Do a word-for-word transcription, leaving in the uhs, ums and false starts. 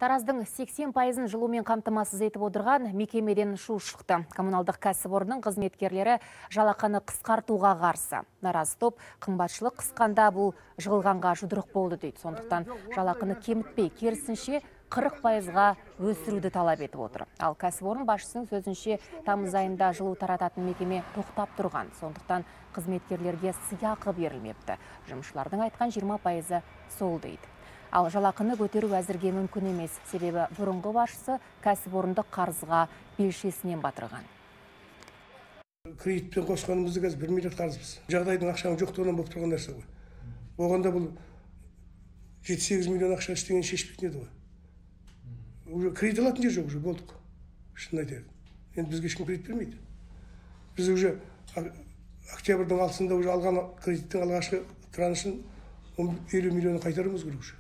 Тараздың сексен пайызын жылумен қамтамасыз етіп отырған мекемеден шу шықты. Коммуналдық кәсіпорынның қызметкерлері жалақыны қысқартуға қарсы. Наразы топ қымбатшылық қысқанда бұл жығылғанға жұдырық болды дейді. Сондықтан жалақыны кемітпей, керісінше қырық пайызға өсіруді талап етіп отыр. Ал кәсіпорын басшысының сөзінше тамыз айында жылу тарататын мекеме тоқтап тұрған. Сондықтан қызметкерлерге сыйақы берілмепті. Жұмысшылардың айтқан жиырма пайызы сол дейді. Ал жалақыны көтеру әзірге мүмкін емес. Себебі бұрынғы басшысы кәсіпорынды қарызға белшесінен батырған. Кредитпен қосқанымызды қазір бір миллиард қарызбыз. Жағдайдың ақшаның жоқтығынан болып тұрған нәрсе ғой. Оғанда бұл жеті сегіз миллион ақша істеген шешпейтін еді ғой. Уже кредит алатын жер жоқ, уже болдық. Шын айтайын. Енді бізге ешкім кредит бермейді. Біз уже октябрьдің алтысында уже алған кредиттің алғашқы траншын елу миллион қайтаруымыз керек уже.